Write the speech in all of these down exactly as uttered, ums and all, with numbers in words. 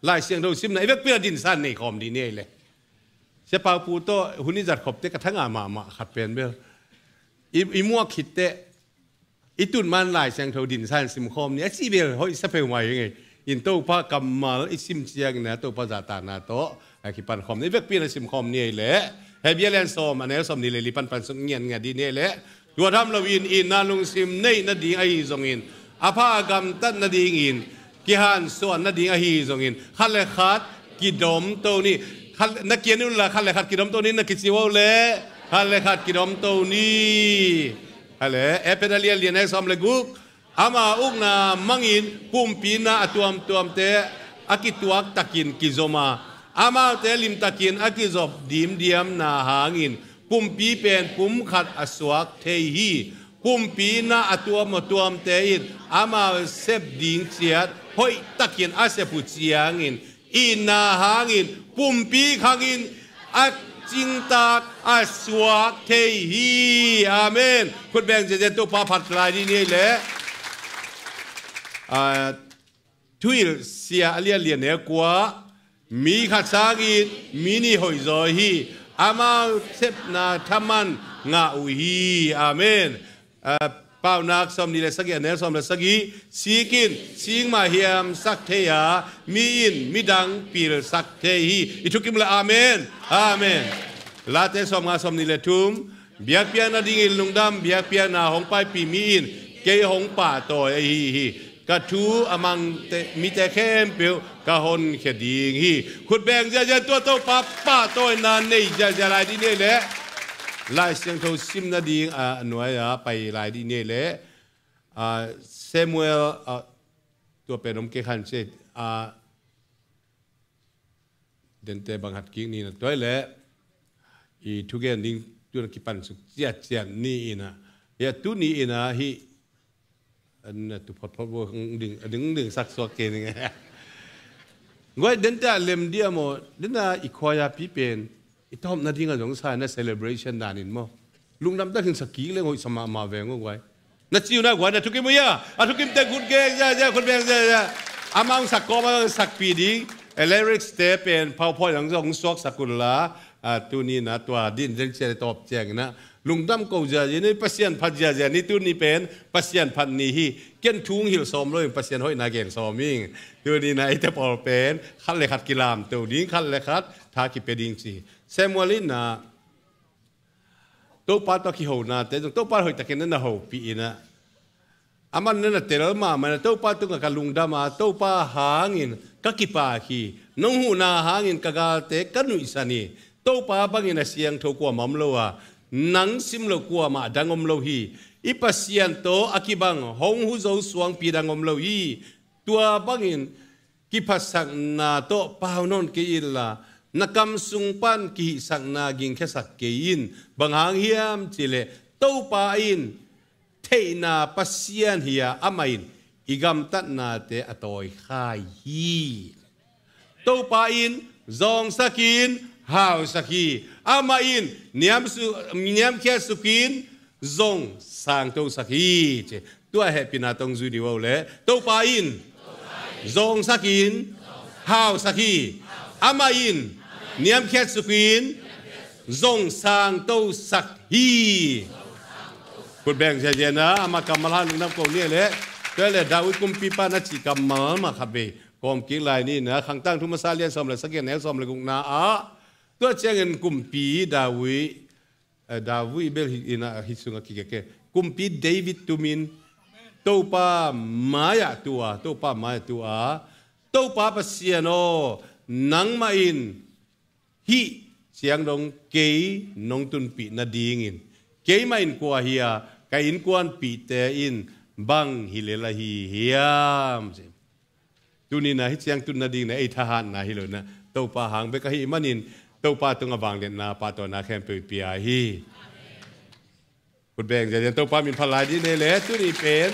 Lai Siangtho simna i vekpi-in a dinsan nei khawm dih ni ei le. Sia Pau Pu tawh hun i zat khop teh ka thangah mahmah khat pen bel i, i muak khit teh i tun man Lai Siangtho dinsan sim khawm ni a cih bel hoih sa peuhmah hi ing ei. In Topa kammal i sim ciangin a Topa zahtakna tawh a kipan khawm ni, i vekpi-in a sim khawm ni ei le. Hebru a lian sawm, a neu sawmnih le li pan pansuk ngiatngiat dih ni ei le. Tua tham loin itna lungsim neih nading ahi zongin, a pha a gamtat nadingin kihansuah nading ahi zongin, khat le khat kidomto ni. Khat, na kian uh la, khat le khat kidomto ni na kici uh le, khat le khat kidomto ni. Hale, Efesa a lian li, a neu sawm le guk. Ama ukna mangin pumpi na a tuamtuamte a kituaktakin kizom a, amaute limtakin a kizop dimdiamna hangin pumpi pen pum khat a suak thei hi. Pumpi na a tuamtuamte in amau sep ding ciat hoihtakin a sep uh ciangin, itna hangin pumpi khangin a cingtak a suak thei hi. Amen. Khut beng ziazia, Topa phat lai dih ni ei le. Ah, Thuhilhsia a lian li, a neu kua. Mi khat sangin mi nih hoihzaw hi. Amau sepna thaman ngah uh hi. Amen. Ah, Paunak sawmnih le sagih, a neu sawm le sagih. Sik in sik mah hiamsak thei a, mi in midang pilsak thei hi. I thukim uh le amen. Amen. Late sawmnga sawmnih le thum. Biakpiakna dingin lungdam, biakpiakna hong paipih mi in kei hong pahtawi ahi hi. Ka thu a mang mite khempeuh ka honkhia ding hi. Khut beng ziazia, tua Topa pahtawina nei ziazia lai dih ni ei le. Lai Siangtho sim nading a nuai-ah pai lai dih ni ei le. Ah, Samuel, ah, tua pen om kei khan ci ei, ah, dente bang hat kik ni na tuai le. I thugen ding tun a kipansuk ciatciat ni in a, hia tuni in a hih a na tu photphot bo ding, a dingding sak suak kei ning. Guai, dente a lem dia maw, dente a i khuai-a pi pen i tawp nading a zong sa na celebration danin maw. Lungdam takin sa kik leng hoih sa mahmah veng aw guai. Na ci uh na guai, na thukim uh hia? A thukim teng khut geng ziazia, khut beng ziazia. Amah hong sak kawm a sakpih ding, eh, lyrics te pen PowerPoint ah zong suaksak un la. Ah, tuni na tua din zeng cian tawp ciangin a lungdam ko ziazia ni, Pasian phat ziazia ni, tuni pen Pasian phat ni hi. Ken thu hong hilh sawm lo in, Pasian hoihna gen sawm ing. Tuni na eite pawl pen khat le khat kilamto ding, khat le khat tha kipia ding ci. Samuel in a Topa tawh kihonate zong Topa hoihtakin na na hopih in a, aman na na tel mahmah in a, Topa tungah ka lungdam a, Topa hangin ka kipak hi. Nong huhna hangin ka galte ka nuihsan hi. Topa bangin a siangtho kuamah om lo a, nang sim loh kuamah a dang om lo hi. I Pasian tawh a kibang hong hu zo suangpi dang om lo hi. Tua bangin kiphatsakna tawh pau nawn kei inla, na kam sung pan kihihsakna gingkhiasak kei in. Bang hang hiam cihleh, Topa in theihna Pasian hi a, amah in i gamtatnate a tawikhai hi. Topa in zawngsak in hausak hi. Amah in niamsu-, niamkhiatsukin zong sangtosak hi, ci. Tua hehpihna tawh zui dih uh le. Topa in zawngsak in hausak hi. Amah in niamkhiatsukin zong sangtosak hi. Khut beng ziazia na, amah kammal hang lungdam ko ni le. Tua le David kumpipa na cih kammal mah khat vei kawm kik lai ni na, Khangtangthu masa lian sawm le sagih, a neu sawm le gukna ah. Tua ciangin kumpi David, eh, David bel hi, in a, hih sungah kikeke. Kumpi David tumin, Topa mai-ah tu a, Topa mai-ah tu a, Topa Pasian aw, nangmah in hih ciang dong kei nong tunpih nadingin, keimah in kua hi a, ka innkuanpihte in bang hi lel ahi hiam? Tuni na hih ciang tun nading na ei thahatna hi lo na, Topa hang bek ahih manin, Topa tungah vangliatna, pahtawina khempeuh i pia hi. Khut beng ziazia, Topa min phat lai dih ni le. Tuni pen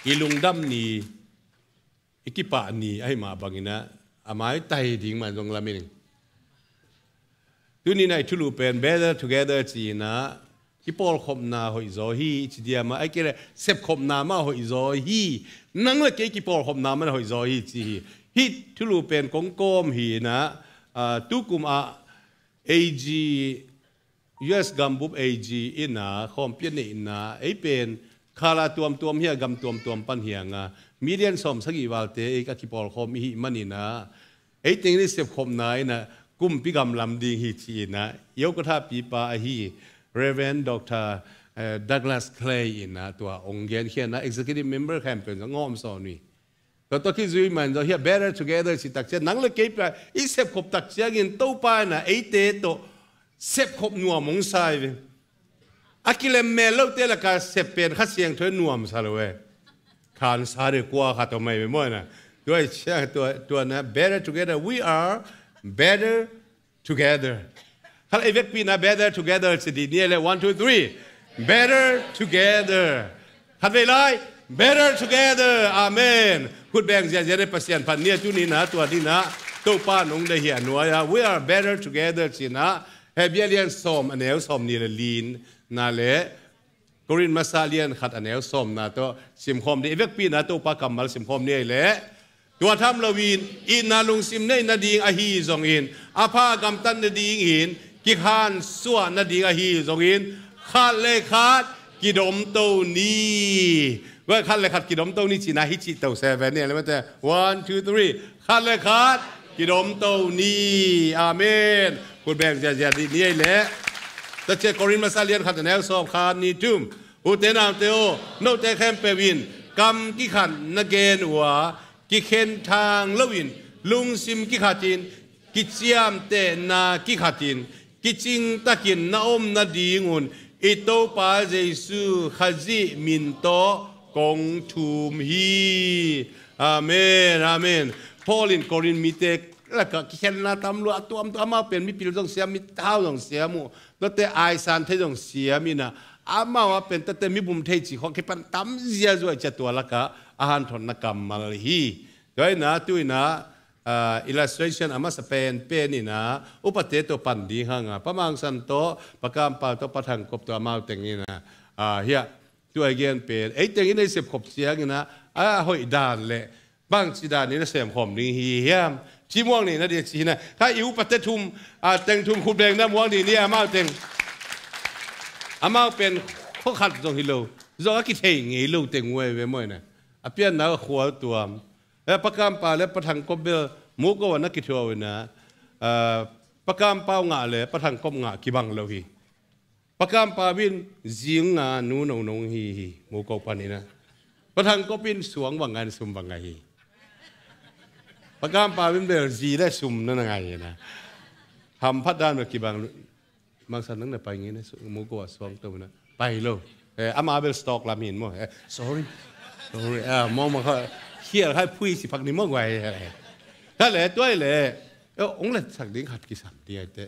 i lungdam ni, i kipah ni ahih mah bangin a, a maitai ding man zong lamen ing. Tuni na i thulu pen Better Together ci-in a, kipawlkhopna hoihzaw hi ci diam a, ahih kei leh sepkhopna mah hoihzaw hi. Nang le kei kipawlkhopna mah hoihzaw hi ci hi. Hih thulu pen kong kawm hi in ah, ah, tukum ah A G, U S gambup A G in ah khawmpi a neih in ah, ei pen khala tuamtuam hi a, gam tuamtuam pan hi a, nga million sawm sagih valte ei a kipawlkhawm i hih manin ah, ei teng i sepkhopna in ah kumpi gam lam ding hi ci-in ah, Yokotha pipa ahi Reverend Doctor, eh, Douglas Clay in ah tua ong genkhia in ah, executive member khempeuh in ah ngawm sawn uh hi. Tua tawh kizui man zaw hiah, better together ci takciang, nang le kei pen i sepkhop takciangin Topa in ah eite tawh sepkhop nuam hong sa hi ve. A kilem mel lote lakah sep pen Kha Siangtho in nuamsa lo e. Khansa de kua khat om ahi ve maw na. Tua hi ciang tua, tua na, better together. We are better together. Khat ei vekpi na better together ci dih ni le, one, two, three. Better together. Khat vei lai. Better together. Amen. Khut beng ziahziah le Pasian phat ni a, tuni na, tua ni na. Topa nong deih hi a nuai a. We are better together ci na. Hebrew lian sawm a neu sawm ni le li na le Korin masa lian khat a neu sawmna tawh simkhawm dih. I vekpi na Topa kammal simkhawm ni ei leh. Tua tham loin itna lungsim neih nading ahi zongin, a pha gamtat nadingin kikhansuah nading ahi zongin, khat le khat kidomto ni. Tua khat le khat kidomto ni cihna hi cih to seven ni a le mate. One, two, three. Khat le khat kidomto ni. Amen. Khut beng ziahziah dih ni ei leh. Tua ciah Korin masa lian khat a neu sawm, khat, nih, thum. Ute naute aw, note khempeuh in kam kikhat na gen uh a, kikhenthang loin, lungsim kikhatin, kiciamtehna kikhatin, kicingtakin na om nadingun i Topa Jesu Khazih min tawh kong thum hi. Amen, amen. Paul in Korin mite lakah kikhenna tam lua, a tuamtuam, amau pen mipil zong siam, mihau zong siam uh, tuate aisan thei zong siam in ah, amau a pen tuate mibum thei cih khawng kipan tam ziazua i ciah, tua lakah a hanthotna kammal hi. Tua in ah, tu in ah, ah, illustration a masa penpen in ah, upate tawh pan ding hang a, Pa Mang San tawh, Pa Kam Pau tawh, Pa Thang Kop tawh, amau teng in ah, ah, hiah, tua i gen pen ei teng in ei sepkhop ciangin ah, a hoih dan le bangci dan in a semkhawm ding hi hiam? Ci muang ni na dia ci hi na. Kha i upate thum, a, teng thum khut beng na muang ni ni amau teng. Amau pen khua khat zong hi lo. Zong a kithei ngei lo teng uh ei ve maw na. A pianna a khual tuam. E, Pa Kam Pau le Pa Thang Kop bel muko a na kithuah uh na. A, Pa Kam Pau ngah le Pa Thang Kop ngah kibang lo hi. Pa Kam Pau in zing a nu nonong hi hi, muko panin ah. Pa Thang Kop in suang bang ngai, sum bang ngai hi. Pa Kam Pau in bel zi le sum na na ngai hi na. Hamphat dan bel kibang, Mang San nang na pai ngei na, muko a suang to na. Pai lo. Eh, ama bel stock lam hin maw. Eh, sorry. Sorry. Ah, maw maw kha. Khial khai phui si phak ni maw guai. Kha le, tua le. Eh, ong le sak ding khat kisam di ai te.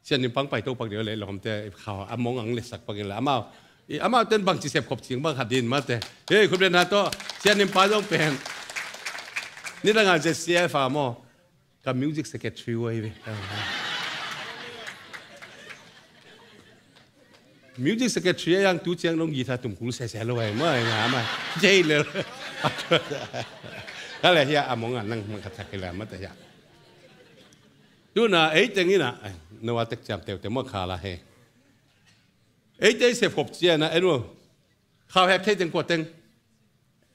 Sian Nim Pang pai to pak deuh le lawmte khau a mong ang le sak pak in la amau. I amau ten bangci sepkhop cing bang khat din mate. Hei, khut beng na tawh Sian Nim Pa zong pen. Nidang a Z C F a maw. Ka music secretary uh hi ve. Music secretary a yang tu ciang dong guitar tum kul sese lo ai maw, ai nga maw. Jei le. Ka le hiah a mong a nang mang khat sak hi la mate hiah. Tuna ei teng in ah, eh, no a tek ciam teute maw kha la he. Ei te sepkhop ciang ah, en uh. Khau hek thei teng kua teng.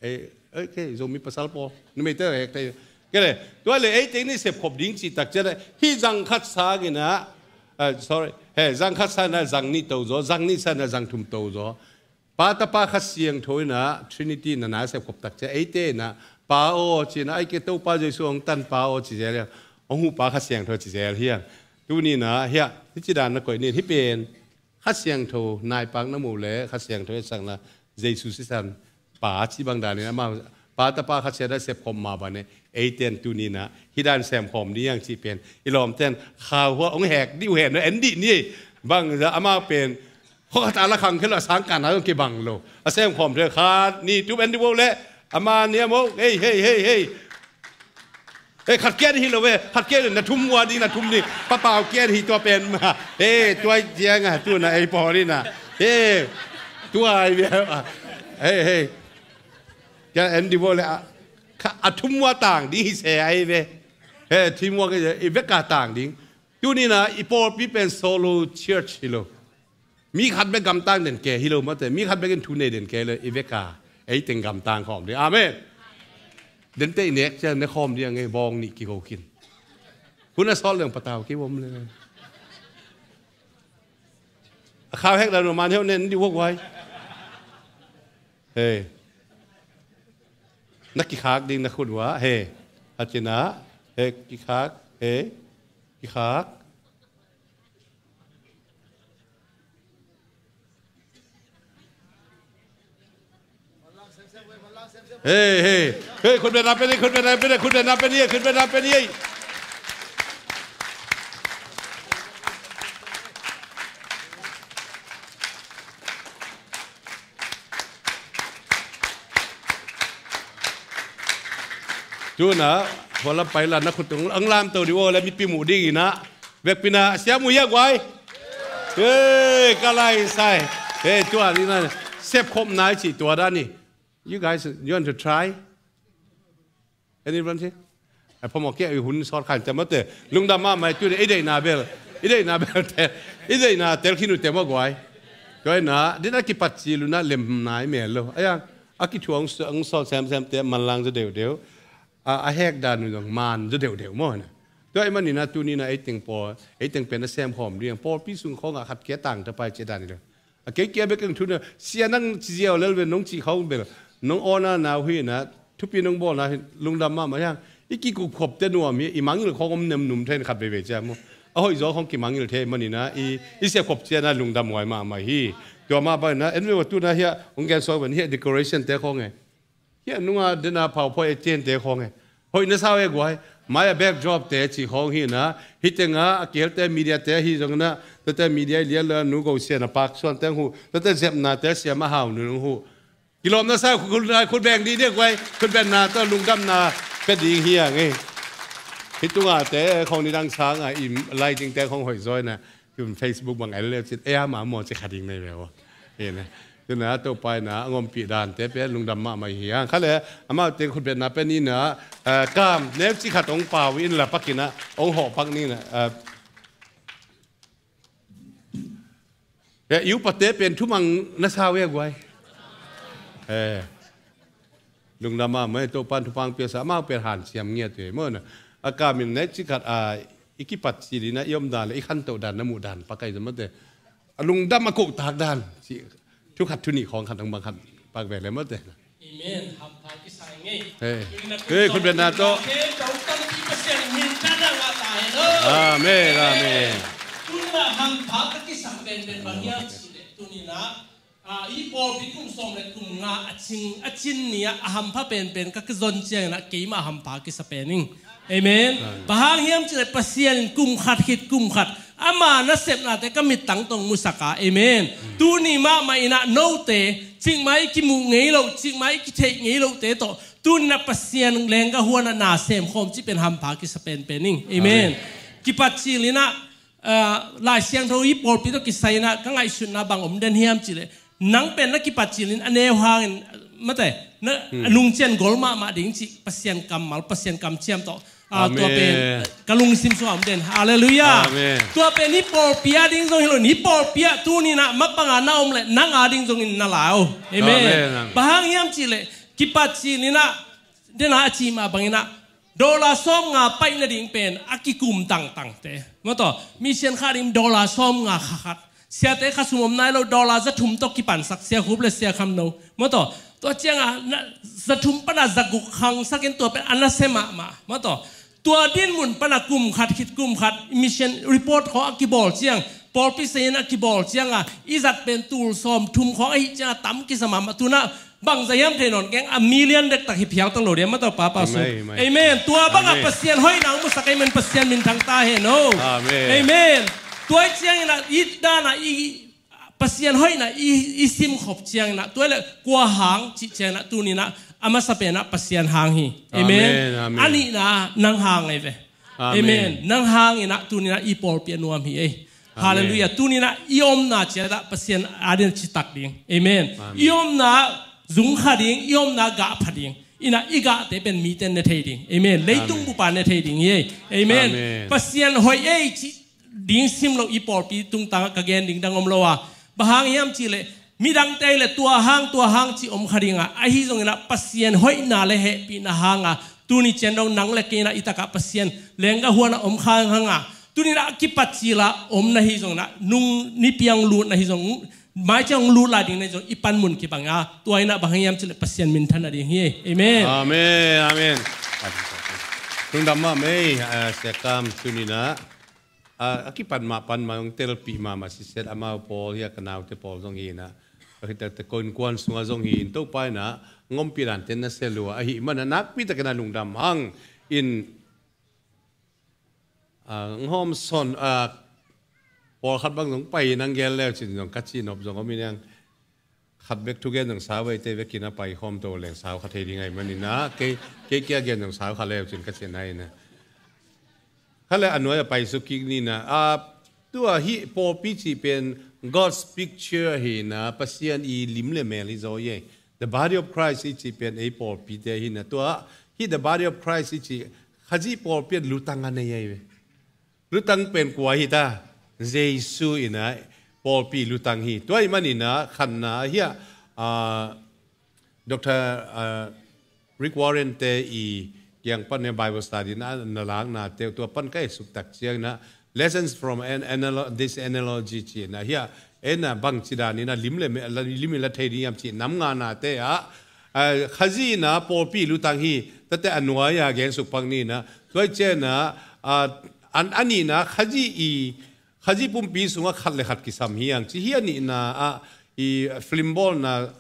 Ei, ei, kei, Zomi pasal pawl. Numei te hek thei. Kei le, tua le ei teng in sepkhop ding cih tak ciang ah, hih zang khat sang in ah, eh, sorry, he, zang khat sang in ah, zang nih to zaw, zang nih sang in ah, zang thum to zaw. Pa, Tapa, Kha Siangtho in ah, Trinity na na sepkhop tak ciang, eite in ah, Pa aw, ci in ah, ai ke Topa Jesu hong tan Pa aw, ci zel hiang. Hong huh Pa Kha Siangtho, ci zel hiang. Tuni in ah, hiah, hih ci dan na koih nin, hih pen. Kha Siangtho, naipak na muh le, Kha Siangtho i sakna, Jesu sisan, Pa, ci bang dan in ah, amau, Pa, Tapa, Kha Siangtho sepkhop mah bang e, eiten tuni in ah, hih dan semkhawm ni hiang cih pen. I lawmten, khau hua, hong hek, dih uh hen, en dih ni, bang, za, amau pen, Khua khat a la khang khe lo a sang kan a zong kibang lo. A sem khawm thei khat, nih, thum en dih vo le. A ma nih a mo. Hei, hei, hei, hei. Hei, khat kia dih hi lo ve. Khat kia dih na thum ua dih na thum dih. Pa Pau kia dih hi tua pen ma. Hei, tua ciang a, tu na ei pawl in a. Hei, tua ai ve. Hei, hei. Kia en dih vo le a. Kha a thumua tang ding hi se ai ve. He, thumua ka i veka tang ding. Tunina i pawlpi pen solo church hi lo. Mi khat bek gamtang den ke hi lo mate. Mi khat bek in thu nei den ke lo i veka. Ei teng gamtang khawm ding. Amen. Den te i nek cian ne khawm ding a ngei bawng nih kiho khin. Hun a sawt leng patau ki bom le. A khau hek dan man heu nen di wok wai. Hey. Na kikhak ding na khut wa. Hey. Hatina. Hey, kikhak. Hey. Kikhak. Hey, hey. Hey, khut beng na pen ei, khut beng na pen ei, khut beng na pen ei, khut beng na pen ei. Tuna, wala pai la na khut tung ang lam to di wala mipi mu ding ina. Vekpi na siam uh hia guai. Hey, ka lai sai. Hey, tua ding na. Sep khop nai ci tua dan ni. You guys, you want to try? Anyone here? Ai phamawh kia i hun sawt khan ciam mate. Lungdam mahmah i tuni i deihna bel. I deihna bel tel. I deihna tel khin uh te maw guai. Tua ina, din a kipat cil uh na lem nai mel lo. Ai a, a kithuang ang sawt semsem te manlang zaw deuhdeuh. A, a hek dan uh zong man zaw deuhdeuh maw na. Tua i manina tunina ei teng pawl, ei teng pen a sem khawm ding. Pawlpi sung khawngah khat kia tang ta pai cia dan i lo. A kei kia bek keng thuna sia nang ci ziau lel ve nong ci khawng bel nong awna nau hi na thupi nong bawlna hi lungdam mahmah hiang. I kikup khop te nuam hi i mangil khawng om nem num thei khat veivei cia mu. A hoih zaw khawng kimangil thei manina i, i sia khop cia na lungdam huai mahmah hi. Tua mah bangina en ve wa tuna hia hong gen suak ven hia decoration te khawng e. Hia nunga dena phau phawi a ciente khawng e. Hoih na sau e guai. Mai a backdrop te ci khawng hi na. Hi tenga a kelte media te hi zong na. Tate media i lian la nu go sia na pak suan teng hu. Tate zepna te sia ma hau nu nung hu. Kilawm na sau khut, khut beng di dia guai. Khut beng na to lungdam na pe ding hi a ngei. Hi tunga te khawng ni dang sang a i lighting te khawng hoih zaw na. Tun Facebook bang el le cin, ea ma maw ci kha ding nei ve aw. Hi na. Tuna Topa ina a ngompi dan te pe lungdam mahmah hi hang. Kha le amau te khut betna pe ni na, eh, kam neu ci khat ong pau in la pakina ong hawh pak ni na. Eh, eh, iu pate pen thumang na sau e guai. Eh. Lungdam mahmah, Topan thupha pia sa, amau pen hanciam ngiat ve maw na. A kamin nek ci khat a i kipat cil ina i om dan le i khantoh dan na muh dan pakai zamaw te. A lungdam a kohtak dan ci thu khat thu nih khawng khat dang bang khat pak ve le maw te. Amen. Hampha kisai ngei. Hey. Hey, khut beng na to. Amen, amen. Tuna hampha ka kisak pen pen bang hiam ci le tunina. Ah, i pawlpi kum sawm le kum nga a cin, a cin ni-ah a hampha penpen ka kizon ciangin ah keimah hampha kisa pen ing. Amen. Amen. Bang hang hiam cih leh Pasian in kum khat khit kum khat ama nasepnate ka mittang tawh musak a. Amen. Amen. Tuni mahmah in ah note cikmah i kimuh ngei loh, cikmah i kitheih ngei lohte tawh tuni-in ah Pasian leenggah huan ah na semkhawm cih pen hampha kisa penpen ing. Amen. Amen. Kipat cil in ah Ah, Lai Siangtho i pawlpi tawh kisai-in ah ka ngaihsutna bang om den hiam cih leh nang pen na kipat cilin a neu hangin mate na a nungcian gol mahmah ding cih Pasian kammal, Pasian kamciam tawh, ah, tua pen ka lungsim sungah om den. Halleluiah. Amen. Tua pen i pawlpi a ding zong hi lo in i pawlpi ah tuni-in ah mapang a na om leh nang a ding zongin na lau. Amen. Amen. Bang hang hiam cih leh kipat cilin ah dena a ci mah bangin ah dollar sawm nga paih nading pen a kikum tangtangte. Maw taw, mission kha ding dollar sawm nga kha khat. Siate kha sum om nai lo dollar za thum tawh kipansak Sia Khup le Sia Kham No. Maw taw, tua cianga za thum pana za guk khangsakin tua pen a nasia mahmah. Maw taw, tua din mun pana kum khat khit kum khat mission report khawng a kibawl ciang, pawlpi sayin a kibawl cianga i zat pen tul sawm thum khawng ahi cianga tam kisa mahmah tuna. Bangza hiam thei nawn keng a million dektak hi phial tang lo dia maw taw papa sung. Amen. Tua banga Pasian hoihna hong musak amen, Pasian minthang ta hen o. Amen. Tua i ciangin ah i dana i Pasian hoihna i, i simkhop ciangin ah tua le kua hang cih ciangin ah tuni-in ah a masa pen ah Pasian hang hi. Amen. A nihna nang hang ahi ve. Amen. Nang hangin ah tuni-in ah i pawlpi a nuam hi ei. Halleluiah. Tuni-in ah i omna ciat ah Pasian adin citak ding. Amen. I omna zung kha ding, i omna gah pha ding. Ina i gahte pen mite ne thei ding. Amen. Leitung bupa ne thei ding hi. Amen. Pasian hoih ei cih ding sim lo i pawlpi tungtangah ka gen ding dang om lo a. Bang hang hiam cihleh midangte le tua hang tua hang cih om kha dingah, ahi zongin ah Pasian hoihna le hehpihna hangah tuni cian dong nang le kei in ah i takah Pasian lengga huanah om kha hang a, tuni in ah a kipat cil ah om na hi zongin ah, nung nipi ah hong lut na hi zong, mai ciang hong lut lai ding na hi zong, i panmun kibang a, tua in ah bang hang hiam cihleh Pasian minthan nading hi. Amen. Amen. Amen. Lungdam mahmah ei, ah, Sia Kam, tuni in ah, ah, a kipan mah pan mah hong telpih mahmah siset, amau pawl hi a, ka naute pawl zong hi in ah, a khit takte ko innkuan sungah zong hi in, Topa in ah hong ompih dante na sia lua ahih manin ah nakpi takin ah lungdam hang in, ah, hong hawm sawn, ah, pawlkhat bang zong pai in hong gel leu cin zong ka cihnop zong om in, hong khat bek thugen zong sau, eite bekin a pai khawm to leng sau kha thei ding ahih manin ah, kei, kei kia gen zong sau kha leu cin ka cihna in ah. Kha le a nuai a pai suk kik ni in ah, ah, tua hih pawlpi cih pen God's picture hi in ah, Pasian i lim le mel hi zaw hi. The body of Christ i cih pen ei pawlpite hi in ah, tua hih the body of Christ i cih Khazih pawlpi in lutang a nei ahi ve. Lutang pen kua hi ta? Jesu in ah pawlpi lutang hi. Tua ahih manin ah khatna ah hiah, ah, Doctor, ah, Rick Warren te i kiang pan in ah Bible study na, na laknate uh, tua pan ka et suk tak ciangin ah, lessons from an analo-, this analogy ci in ah hiah, en ah bangci dan in ah lim le me-, la, lim in la thei ding hiam cih nam nganate ah, ah, Khazih in ah pawlpi lutang hi. Tate a nuai a gen suk pak ni in ah, tua ciangin ah, ah, an, a nihna Khazih i, Khazih pumpi sungah khat le khat kisam hi hang ci hi. A nihna ah i film bawlna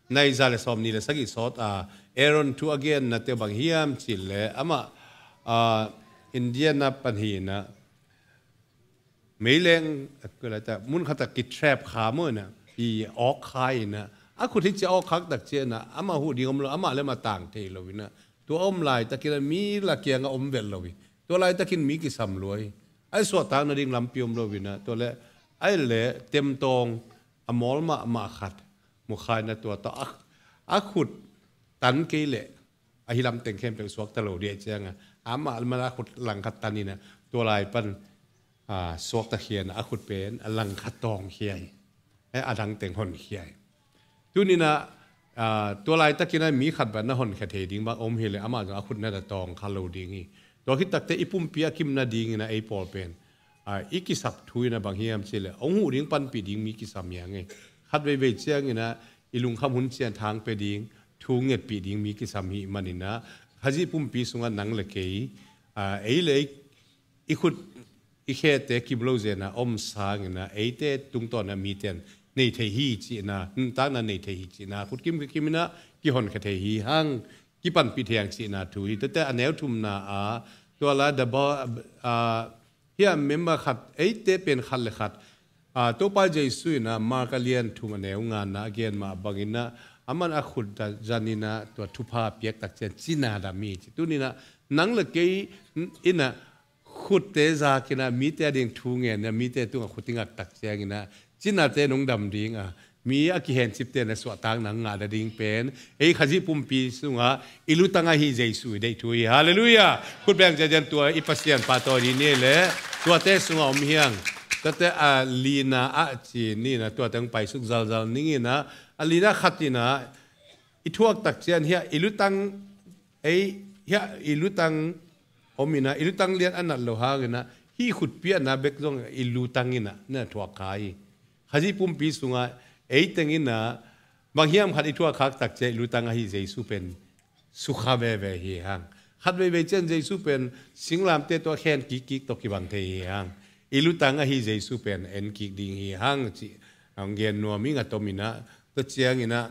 nai za le sawm nih le sagih sawt a Aaron thu a genna te bang hiam cihleh amah, ah, India na pan hi in ah, meileng, ah, kua lai ta, mun khat ah kitrap kha maw in ah, i awk kha in ah, a khut hi ci a awk khak tak ciangin ah, amah huh ding om lo, amah le amah tang thei lo in ah, tua om laitakin ah mi la kiangah om vet lo hi. Tua laitakin mi kisam lua hi. A i suahtak nading lampi om lo in ah, tua le a i le temtawng a mawl mahmah khat mu kha in ah, tua tawh a, a khut tan kei leh ahi lam teng khempeuh suakta lo ding ahih ciangin ah, amah le amah a khut langkhat tan in ah, tua lai pan, ah, suakta khia in ah, a khut pen a langkhat tawng khia hi. Eh, a dang teng hon khia hi. Tuni in ah, ah, tua laitakin ah mi khat bang na honkhia thei ding bang om hileh amah zong a khut na da tawng kha lo ding hi. Tua khit takte i pumpi a kimna dingin ah ei pawl pen, ah, i kisap thu in ah bang hiam cihleh hong huh ding, panpih ding mi kisam hi hang e. Khat veivei ciangin ah i lungkham hun ciang thang pia ding, thu ngetpih ding mi kisam hi manin ah, Khazih pumpi sungah nang le kei, ah, ei le ei i khut i khete kim lo zen a om sangin ah, eite tungtawn ah mite in nei thei hi cihna, nuntakna nei thei hi cihna, khut kim kim in ah kihonkhia thei hi hang, kipanpih thei hang cihna thu hi. Tate a neu thumna ah, tua la the bo-, ah, hiah member khat, eite pen khat le khat, ah, Topa Jesu in ah Mark a lian thum a neu ngana a gen mah bangin ah, aman a khut da zan in ah tua thupha piak tak ciang cina dam hi ci. Tuni in ah nang le kei in ah khutte zak in ah mite a ding thu ngen in ah, mite tungah khut i ngak tak ciangin ah, cinate nong dam ding a, mi a kihencipte na suahtakna ngah nading pen ei Khazih pumpi sungah i lutang ahi Jesu i deih thu hi. Halleluiah. Khut beng ciacian tua i Pasian pahtawi dih ni le, tuate sungah om hi hang. Tate a lina ah ci ni in ah, tuate hong paisuk zalzal ning in ah, a lina khat in ah i thuak tak ciang hiah i lutang, ei, hiah i lutang om in ah, i lutang lian a nat lo hangin ah, hih khutpi a na bek zong i lutang in ah na thuak kha hi. Khazih pumpi sungah ei teng in ah bang hiam khat i thuak khak tak ciang i lutang ahi Jesu pen sukha veve hi hang. Khat veivei ciang Jesu pen singlamteh tawh khen kikkik tawh kibang thei hi hang. I lutang ahi Jesu pen en kik ding hi hang cih hong gen nuam ing a, tom in ah, tua ciangin ah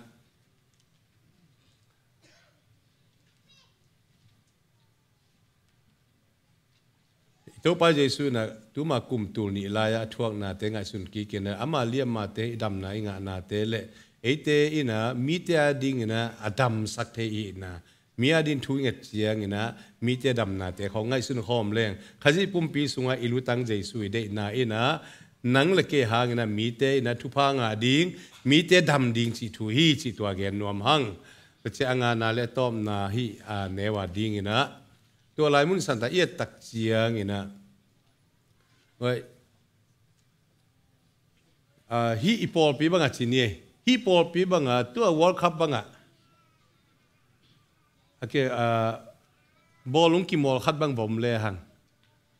Topa Jesu in ah tuma kum tul nih lai-ah a thuaknate ngaihsun kik in ah, ama liammate'n i damna i ngahnate le eite in ah mite a dingin ah a damsak thei i hihna, mi a ding thu i nget ciangin ah mite damnate khawng ngaihsun khawm leng, Khazih pumpi sungah i lutang Jesu i deihna in ah nang le kei hangin ah mite in ah thupha ngah ding, mite dam ding cih thu hi cih tua gen nuam hang. Cia a ngana le a tawpna hih a neu a dinginah tua lai mun santa i et tak cianginah, oi, ah, hih i pawlpi bangah ci ni ei. Hih pawlpi bangah tua World Cup bangah a ke, ah, bawlung kimawl khat bang va om le hang,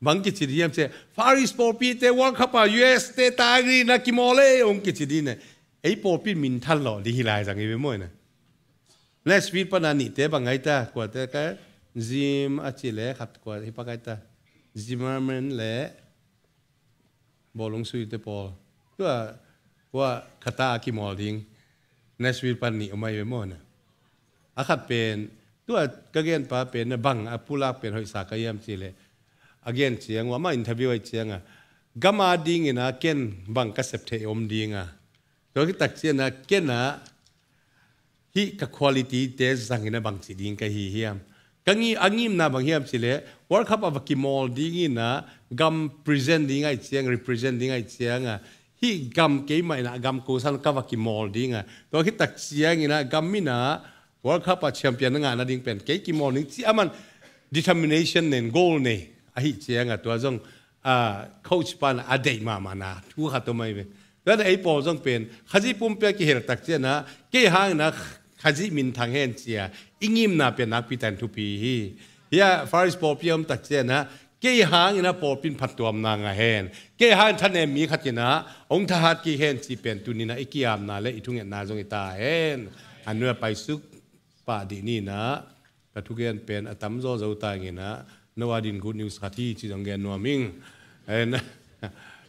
bang kici di hiam cia, Far East pawlpite World Cup a U S te tagri na kimawl ei, ong kici di ne. Ei pawlpi minthan lawh ding hi lai zang i ve maw ina. Nashville pana nihte bang ngai ta, kuate ka Jim a ci le khat kua hi pa ngai ta. Zimmerman le bawlung suite pawl. Tua kua khata a kimawl ding Nashville pan nih om ai ve maw na. A khat pen tua ka genpa pen na bang a pulak pen hoihsa ka hiam ci le, a gen ciang uh amah interview ai cianga, gama dingina ken bang ka sep theih om dinga, tua kitak ciana kena hih ka quality te zangina bangci ding ka hi hiam? Ka ngi a ngimna bang hiam ci le, World Cup a va kimawl dingina gam present ding ai ciang, represent ding ai cianga, hih gam keimah ina gam kosan ka va kimawl dinga, tua kitak ciangina gam ina World Cup a champion na ngahna ding pen kei kimawl ding ci aman determination nen, goal nei ahi cianga, tua zong ah, coach pan a deih mahmahna thu khat om ai ve. Tuan ei pawl zong pen Khazih pumpi a kihel tak ciana kei hangina Khazih minthang hen cia i ngimna pen nakpi tan thupi hi. Hia Far East pawlpi a om tak ciana kei hangina pawlpin phattuamna ngah hen, kei hangin thanem mi khatina ong thahat kik hen ci pen tunina i kiamna le i thungetna zong i ta hen. A nua paisuk pah dih nina ka thugen pen a tamzaw zo tanginah no a din good news khat hi ci zong gen nuam ing. And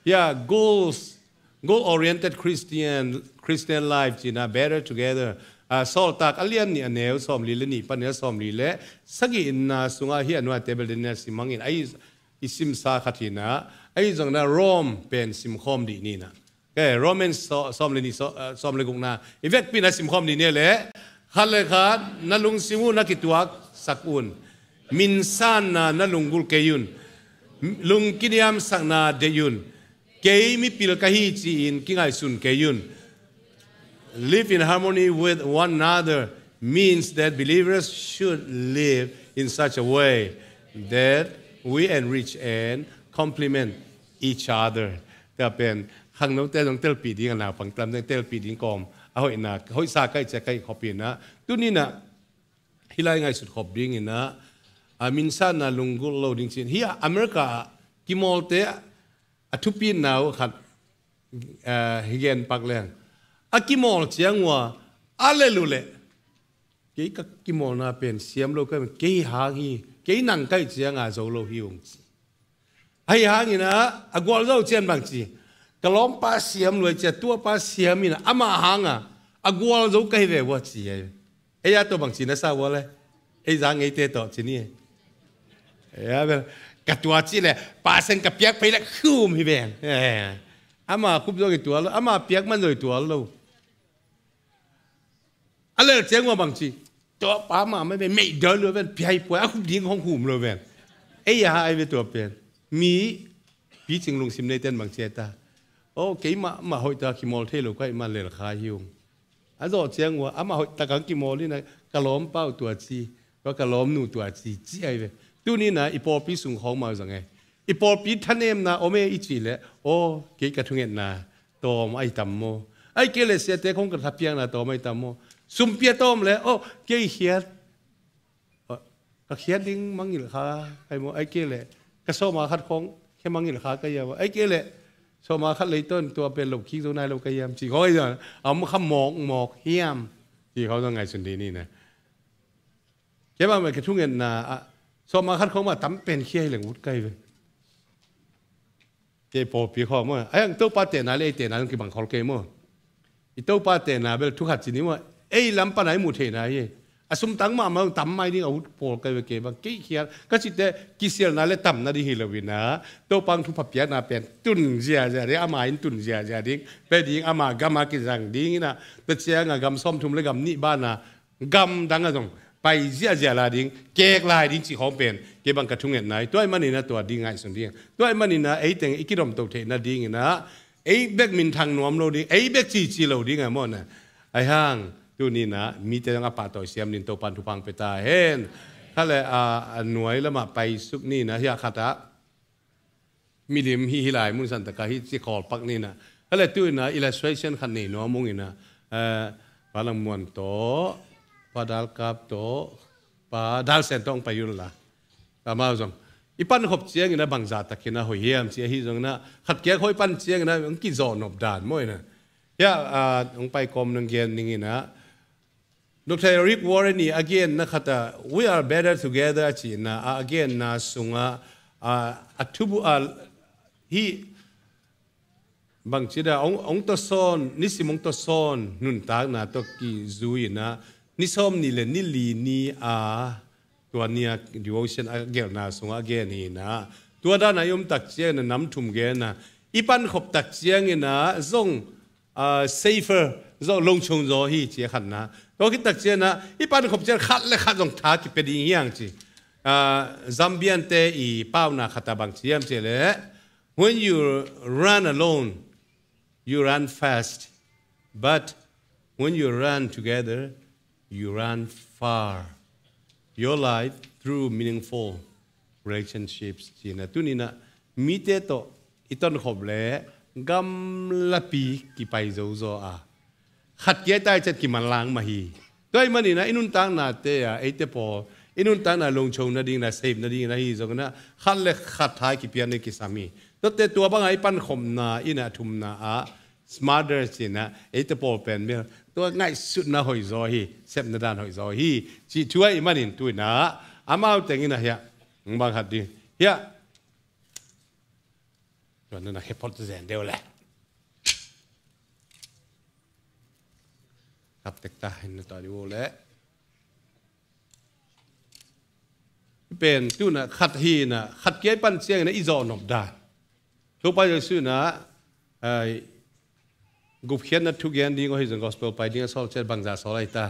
yeah, goals, goal oriented Christian, Christian life cina better together. Ah, Sawltak a lian nih a neu sawmli le nih pan a sawmli le sagihna sungah hi a nuate bel dena simangin a i simsa khat hinah a i zongna Rome pen simkhawm dih nina. Kei Romans sawm le nih, sawm le gukna i vekpi na simkhawm dih ni le, khat le khat na lungsim uh na kituak sak un. Minsanna na lunggulh kei un. Lungkiniamsakna deih un. Kei mipil ka hi ci-in kingaihsun kei un. Live in harmony with one another means that believers should live in such a way that we enrich and complement each other. Tua pen khangnote zong telpih ding a, naupang tam zong telpih ding kawm a hoihna, hoihsa kai cia kai khop inah tuninah hih lai ngaihsut khop dinginah a minsanna lunggulh lo ding cin. Hih America ah kimawlte a thupitna uh khat, ah, hi gen pak leng a kimawl ciang uh a lel uh leh kei ka kimawlna pen siam lo kai, kei hang hi, kei nang kai cianga zo lo hi ung ci. Ahi hangina a gualzo cian bang ci, ka lawmpa siam luai cia tuapa siam ina ama hanga a gualzo ka hi ve ua ci. Ei a tua bang ci na sa ua le, ei za ngeite tawh ci ni. Ei a bel ka tua ci le, pasen ka piak phei le khum hi ven. Ama khup zo i tual lo, ama piak man zo i tual lo. A lel ciang ua bang ci, tua pa mah mai ve, meih dal lo ven, piai puai a khup ding hong hum lo ven. Ei a ai ve tua pen mi picing lungsim neiten bang ci ta. O keimah mah hoih ta kimawl thei lo kai mah lel kha hi ung. A zawh ciang ua amah hoih takang kimawl ina ka lawmpa uh tua ci, tua ka lawmnu tua ci ci ai ve. Tunina i pawlpi sung khawng mau zang e. I pawlpi thanemna om e i cih leh, aw kei ka thungetna tawm ai tam maw? Ai kei leh siate khong ka thapiakna tawm ai tam maw? Sumpia tawm leh, aw kei khiat, ka khiat ding mangilh kha kai maw? Ai kei leh ka sawma khat khong khia mangilh kha kai ia maw? Ai kei leh sawma khat leitawn tua pen loh khik zo nai lo kai iam cih khong ai zan a om kha mawkmawk hiam? Cih khong zan ngaihsun dih ni na. Kei bang bang ka thungetna ah sawma khat khong mah tam pen khia hi leng ut kai ve. Kei pawlpi khawng maw, a hiang Topa tehna le ei tehna zong kibang khol kei maw? I Topa tehna bel thukhat ci ni maw? Ei lam pana i muh theihna hi. A sumtang mahmah zong tam mai ding a ut pawl kai ve kei bang. Kei khial ka cihte kisialna le tamna ding hi lo ina Topa ang thupha piakna pen tun ziazia ding, ama in tun ziazia ding, pe ding, ama gama kizang ding ina, tua cianga gam sawmthum le gam nih bana gam dang a zong pai ziahziah lai ding, kek lai ding cih khawng pen kei bang ka thungetna hi. Tua ahih manina tua ding ngaihsun ding. Tua ahih manina eiteng i kidomto theihna dingina ei bek minthang nuam lo ding, ei bek cici lo ding a mawhna. Ahi hang Tuni-in ah mite zong a pahtawi siam dingin Topan thupha hong pia ta hen. Khat le a, a nuai lamah paisuk ni-in ah, hiah khat ah milim hi, hi lai mun santaka hi ci khawl pak ni-in ah. Khat le tu-in ah illustration khat nei nuam ung in ah, eh, Pa Lang Muan tawh, Pa Dal Kap tawh, Pa Dal Sen tawh hong pai un la. Amau zong i pankhop ciangin ah bangzah takin ah hoih hiam ci ahi zongin ah, khat kia khawng i pan ciangin ah hong kizawh nop dan maw in ah. Hiah, ah, hong pai kawm nang gen ning in ah, Doctor Rick Warren ii a genna khat ah, "We are better together," a cihna, a, a genna sungah, a, a thubu-, a, hih bangci dan, hong, hong tawsawn, nisim hong tawsawn nuntakna tawh kizui-in ah, ni sawmnih le ni li ni a, tua ni-a devotion a gelhna sungah a gen hi-in ah, tua dan a i om tak ciangin ah nam thum gen a, i pankhop tak ciangin ah zong, ah, safer zaw, lungchung zaw hi ci a khatna. Tua khit tak ciangin ah i pankhop ciang khat le khat zong tha kipia ding hi hang ci. Ah, Zambian-te ii pauna khat ah bangci hiam cih leh, "When you run alone, you run fast. But when you run together, you run far. Your life through meaningful relationships," ci-in ah, tuni-in ah mite tawh i tonkhop leh gamlapi kipai zo zaw a, khat kia i tai ciang kimanlang mah hi. Tua ahih manin ah i nuntaknate ah, eite pawl i nuntakna lungchung nadingin ah, safe nadingin ah ahi zongin ah, khat le khat tha kipia ding kisam hi. Tuate tua bangah i pankhopna in ah, a thumna ah, smarter ci-in ah, eite pawl pen bel tua ngaihsutna hoih zaw hi, sepna dan hoih zaw hi, cih thu ahih manin tu-in ah amau tengin ah hiah, bang khat ding hiah. Tua na na khe phot zen deuh leh. Kap tek ta, hin na ta deuh leh. Pen tu-in ah khat hi-in ah, khat kia i pan ciangin ah i zawh nop dan. Topa Jesu in ah, ai, gupkhiatna thu gen ding ahi zong gospel pai ding a sawl ciat bangzah sawl ahi ta.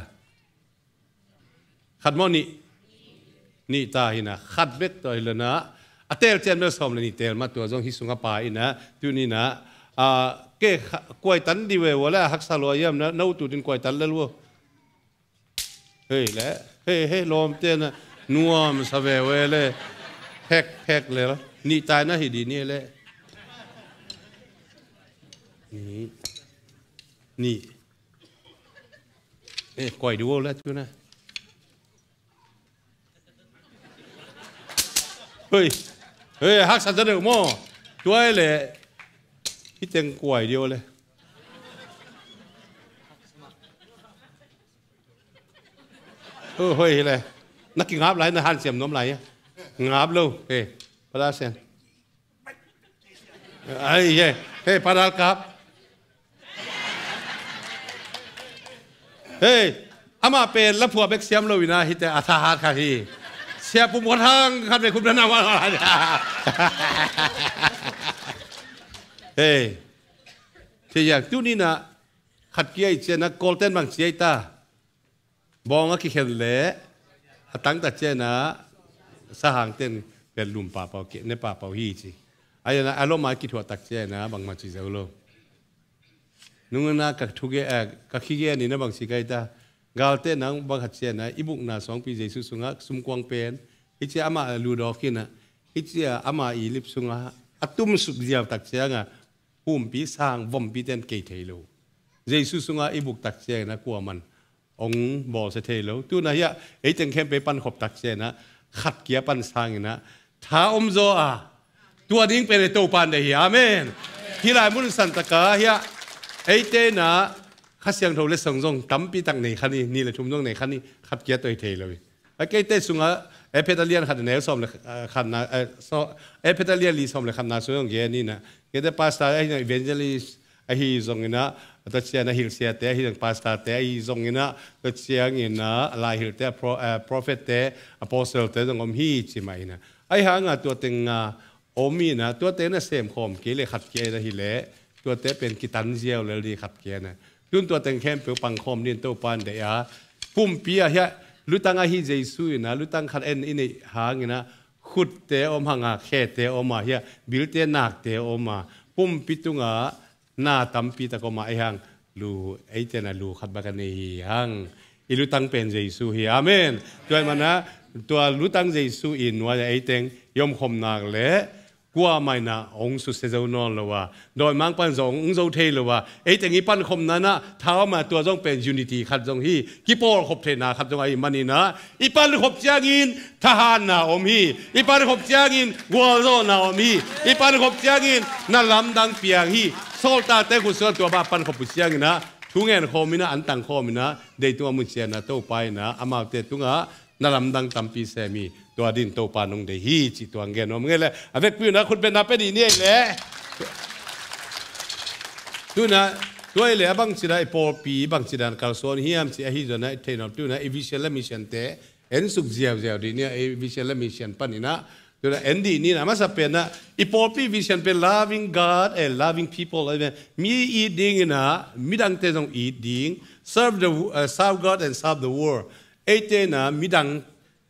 Khat maw nih? Nih ta hi-in ah, khat bek tawh hi leh na. A teel ciang bel sawm le nih teel mah, tua zong hih sungah pa in ah, tuni-in ah, ah, ke kha-, kuaitan dih ve ua leh, haksa lua hiam na, na ut ut in kuaitan lel ua. Hei leh, hei, hei, lawmte na, nuamsa ve ua leh, phek, phek leh, nih ta-in ah hi dih ni leh. Nih. Nih. Eh, kuai dih ua leh tu na. Hei. Hei, haksa ta deuh maw. Tua leh. Hih teng kuai dih ua leh. Hei, hei, hi leh. Na kingap lai, na hanciam nuam lai a. Ngap lo. Hei. Pa Dal Sen. Ai, hei. Hei, Pa Dal Kap. Hei, amah pen laphuah bek siam lo-in ah, hihte a thahat kha hi. Sia Pum Khuathang khat ve khum dan a. Hei. Thei hiam, tuni-in ah khat kia i ciang ah, Kawlten bang ci ahi ta. Bawng a kikhen leh a tang tak ciang ah, sahangten pen lum pahpah, keh ne pahpah hi ci. Ahi zongin ah a lom a kithuah tak ciang ah bangmah ci zo lo. Nung in ah ka thu gen, eh, ka khi gen in ah bang ci ka hi ta. Galte nang bang khat ciang ah, i bukna suangpi Jesu sungah sumkuang pen, hih ciang amah ludawk in ah, hih ciang amah i lip sungah a tumsuk ziau tak ciang ah, pumpi sang vompite in kei thei lo. Jesu sungah i buk tak ciang in ah kuaman hong bawlsia thei lo. Tu-in ah hiah, ei teng khempeuh i pankhop tak ciang in ah, khat kia pan sangin ah tha om zaw a, tua ding pen ei Topa in deih hi. Amen. Hih lai mun santak ah hiah, eite in ah Kha Siangtho letsong zong tampi tak nei kha ni, nih le thum zong nei kha ni, khat kia tawh hi thei lo hi. A, keite sungah, Efesa lian khat a neu sawm le, eh, khatna, eh, so, Efesa lian li sawm le khatna sung zong gen in ah. Keite pastor ahi zong, evangelist ahi zongin ah, tua ciang a hilhsiate ahi zong, pastorte ahi zongin ah, tua ciangin ah, laihilhte, a pro-, eh, prophette, apostlete zong om hi ci mah in ah. Ahi hang a tua teng a om in ah, tuate na semkhawm kei leh khat kia in ah hi leh, tuate pen kitan ziau lel ding khat kia in ah. Tun tua teng khempeuh pangkhawm dingin Topa in deih a, pumpi ah hiah lutang ahi Jesu in ah, lutang khat en i neih hangin ah, khutte om hang a, khete om a, hiah bilte nakte om a, pumpi tungah na tampi tak om a, ahi hang lu, eite na lu khat bek a nei hi hang. I lutang pen Jesu hi. Amen. Tua ahih manin ah, tua lutang Jesu i nuai-ah eiteng i omkhop nak leh kuamah in ah hong susia zo nawn lo a, dawimangpa'n zong hong zo thei lo a, eiteng i pankhopna in ah thauma tua zong pen unity khat zong hi, kipawlkhop theihna khat zong ahih manin ah, i pankhop ciangin thahatna om hi. I pankhop ciangin gualzawhna om hi. I pankhop ciangin na lamdang piang hi. Sawltakte khutsuan tua bang pankhop uh ciangin ah, thungen khawm in ah, an tang khawm in ah, deitung a mucian ah, Topa in ah amaute tungah na lamdang tampi sem hi. Tua dingin Topa nong deih hi cih tua hong gen nuam ing ei. A vekpi un ah khutbetna pia dih ni ei leh. Tu-in ah, tua ei leh a bangci dan i pawlpi bangci dan kalsuan hiam cih ahi zongin ah i theih nuam. Tu-in ah i vision le mission-te en suk ziauziau dih ni ei, vision le mission panin ah. Tu-in ah en dih ni in ah, a masa pen ah i pawlpi vision pen loving God and loving people. Mi it dingin ah midangte zong it ding, serve the, uh, serve God and serve the world. Eite in ah midangte